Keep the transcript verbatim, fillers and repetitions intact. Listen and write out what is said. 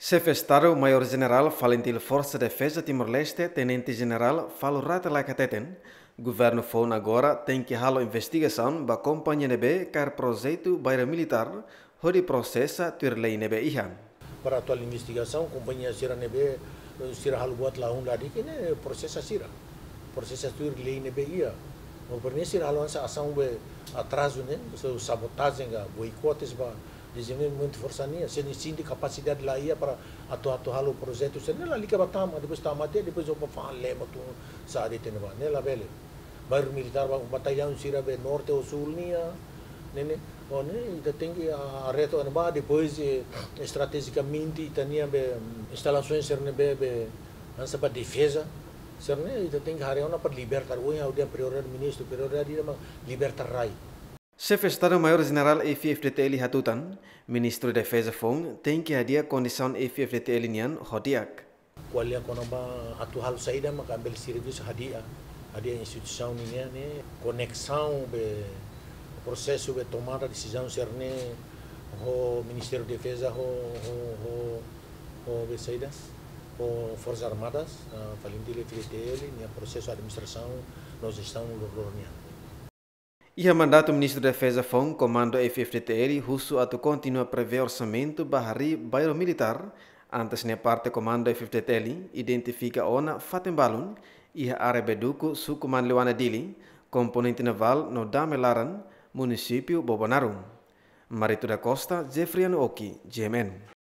Xefe Estadu Maiór Jenerál Falintil Forsa Defeza Timor-Leste, Tenente Jenerál Falur Rate Laek hateten, governu foun agora tenke halo investigasaun ba kompañia ne'ebé kaer projetu bairru militár, hodi prosesa tuir lei ne'ebé iha. Para atuál investigasaun, kompañia sira ne'ebé, eh, sira halo buat la un la di'ak ne'e prosesa sira. Prosesa tuir lei ne'ebé iha. Maibé ne'e sira halo hanesan asaun be atrazu ne'e, so sabotajen ka boikotes ba dezenvolvimentu forsa nian, sira sente kapasidade la iha para atu, atu halo projetu sira-ne'e, lalika ba tama, depois tama tiha, depois opa fa lema tu sa de tene ba, ne'e labele. Bairru militár ba, batallaun sira be norte ou sul nian, ne'e, ne'e, o ne'e, ita tenke, ah, reto ne'ebá, depois, eh, estrategikamente, ita-nia be, mm, instalasaun sira-ne'ebé, be, hanesan ba defeza, sira-ne'e, ita tenke haree ona para liberta, ohin ha'u dehan prioridade ministru, prioridade ida mak liberta rai. Xefe Estadu Maiór Jenerál F-FDTL hatutan, Ministru Defeza foun tenke hadi'a kondisaun F-FDTL nian ho di'ak. Ko'alia kona-ba atu halo saida maka bele servisu hadi'a, hadi'a instituisaun nian ne'e, koneksaun be prosesu be tomada desizaun sira-ne'e ho Ministériu Defeza ho, ho, ho, ho be saida, ho Forsas Armadas, ah, Falintil F-FDTL nia prosesu administrasaun no jestaun loroloron nian. Iha mandatu Ministru Defeza foun, Komandu F-FDTL husu atu kontinua prevee orsamentu ba harii bairru militár, antes ne'e parte Komandu F-FDTL identifika ona fatin balun iha área Beduku, Suku Manleuana Dili, Komponente Navál no Dame Laran, Munisípiu Bobonaro. Marito da Costa, Jeffriano Oki, G M N.